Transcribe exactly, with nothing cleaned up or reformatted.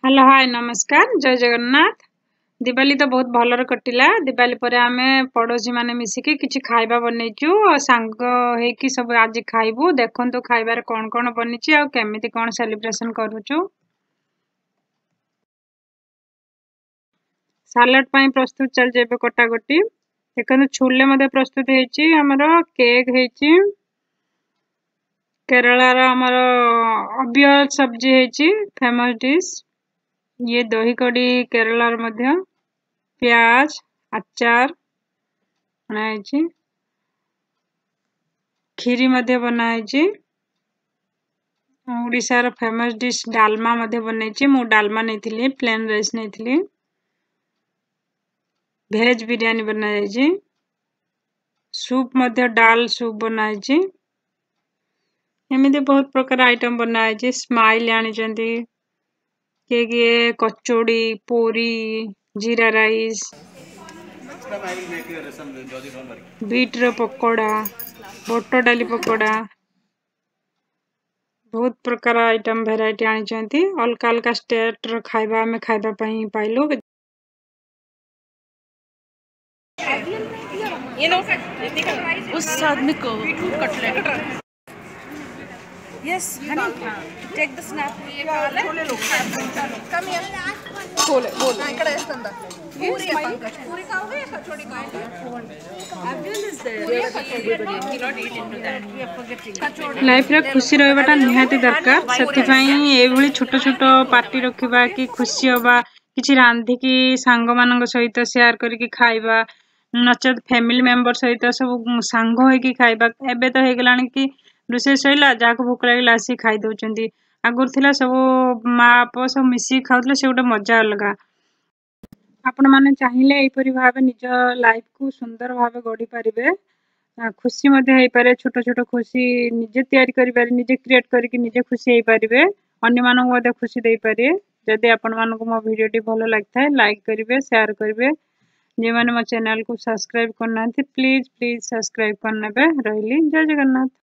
Hello, ହାଏ, ନମସ୍କାର, ଜୟ ଜଗନ୍ନାଥ। ଦିୱାଲୀ ତ ବହୁତ ଭଲରେ କଟିଲା। ଦିୱାଲୀ ପରେ ଆମେ ପଡ଼ୋଶୀ ମାନେ ମିଶିକି କିଛି ଖାଇବା ବନେଇଛୁ ଆଉ ସାଙ୍ଗ ହେଇକି ସବୁ ଆଜି ଖାଇବୁ। ଦେଖନ୍ତୁ ଖାଇବାରେ କ'ଣ କ'ଣ ବନିଛି ଆଉ କେମିତି କ'ଣ ସେଲିବ୍ରେସନ କରୁଛୁ। ସାଲାଡ ପାଇଁ ପ୍ରସ୍ତୁତ ଚାଲିଛି ଏବେ କଟାକଟି। ଦେଖନ୍ତୁ, ଛୋଲେ ମଧ୍ୟ ପ୍ରସ୍ତୁତ ହେଇଛି, ଆମର କେକ୍ ହେଇଛି, କେରଳାର ଆମର ଅବିୟଲ ସବଜି ହେଇଛି, ଫେମସ୍ ଡିସ୍ ଇଏ ଦହି କଡ଼ି କେରଳାର ମଧ୍ୟ, ପିଆଜ ଆଚାର ବନା ହେଇଛି, କ୍ଷୀରି ମଧ୍ୟ ବନା ହେଇଛି। ଓଡ଼ିଶାର ଫେମସ୍ ଡିସ୍ ଡାଲମା ମଧ୍ୟ ବନେଇଛି। ମୁଁ ଡାଲମା ନେଇଥିଲି, ପ୍ଲେନ୍ ରାଇସ୍ ନେଇଥିଲି। ଭେଜ୍ ବିରିୟାନୀ ବନାଯାଇଛି, ସୁପ୍ ମଧ୍ୟ ଡାଲ ସୁପ୍ ବନାହେଇଛି। ଏମିତି ବହୁତ ପ୍ରକାର ଆଇଟମ୍ ବନାହେଇଛି। ସ୍ମାଇଲ୍ ଆଣିଛନ୍ତି କିଏ କିଏ, କଚୋଡ଼ି, ପୁରୀ, ଜିରା ରାଇସ୍, ବିଟ୍ର ପକୋଡ଼ା, ବୁଟ ଡାଲି ପକୋଡ଼ା, ବହୁତ ପ୍ରକାର ଆଇଟମ୍ ଭେରାଇଟି ଆଣିଛନ୍ତି। ଅଲଗା ଅଲଗା ଷ୍ଟେଟ୍ର ଖାଇବା ଆମେ ଖାଇବା ପାଇଁ ପାଇଲୁ। ये लो, उस आदमी को cutlet. Yes honey, take the snap. Come here. बोले बोले। ఇక్కడ వేస్తుందా? పూరి, పంకజ్, పూరి కావాలి, కచోడి కావాలి? ଲାଇଫରେ ଖୁସି ରହିବାଟା ନିହାତି ଦରକାର। ସେଥିପାଇଁ ଏଇଭଳି ଛୋଟ ଛୋଟ ପାର୍ଟି ରଖିବା କି ଖୁସି ହବା, କିଛି ରାନ୍ଧିକି ସାଙ୍ଗମାନଙ୍କ ସହିତ ସେୟାର କରିକି ଖାଇବା, ନଚେତ୍ ଫ୍ୟାମିଲି ମେମ୍ବର ସହିତ ସବୁ ସାଙ୍ଗ ହେଇକି ଖାଇବା। ଏବେ ତ ହେଇଗଲାଣି କି ରୋଷେଇ ସରିଲା, ଯାହାକୁ ଭୋକ ଲାଗିଲା ଆସିକି ଖାଇ ଦଉଛନ୍ତି। ଆଗରୁ ଥିଲା ସବୁ ମା ବାପ ସବୁ ମିଶିକି ଖାଉଥିଲେ, ସେ ଗୋଟେ ମଜା ଅଲଗା। ଆପଣମାନେ ଚାହିଁଲେ ଏହିପରି ଭାବେ ନିଜ ଲାଇଫକୁ ସୁନ୍ଦର ଭାବେ ଗଢ଼ି ପାରିବେ, ଖୁସି ମଧ୍ୟ ହେଇପାରିବେ। ଛୋଟ ଛୋଟ ଖୁସି ନିଜେ ତିଆରି କରିପାରିବେ, ନିଜେ କ୍ରିଏଟ୍ କରିକି ନିଜେ ଖୁସି ହେଇପାରିବେ, ଅନ୍ୟମାନଙ୍କୁ ମଧ୍ୟ ଖୁସି ଦେଇପାରିବେ। ଯଦି ଆପଣମାନଙ୍କୁ ମୋ ଭିଡ଼ିଓଟି ଭଲ ଲାଗିଥାଏ, ଲାଇକ୍ କରିବେ, ସେୟାର କରିବେ। ଯେଉଁମାନେ ମୋ ଚ୍ୟାନେଲକୁ ସବସ୍କ୍ରାଇବ୍ କରିନାହାନ୍ତି, ପ୍ଲିଜ୍ ପ୍ଲିଜ୍ ସବସ୍କ୍ରାଇବ୍ କରିନେବେ। ରହିଲି, ଜୟ ଜଗନ୍ନାଥ।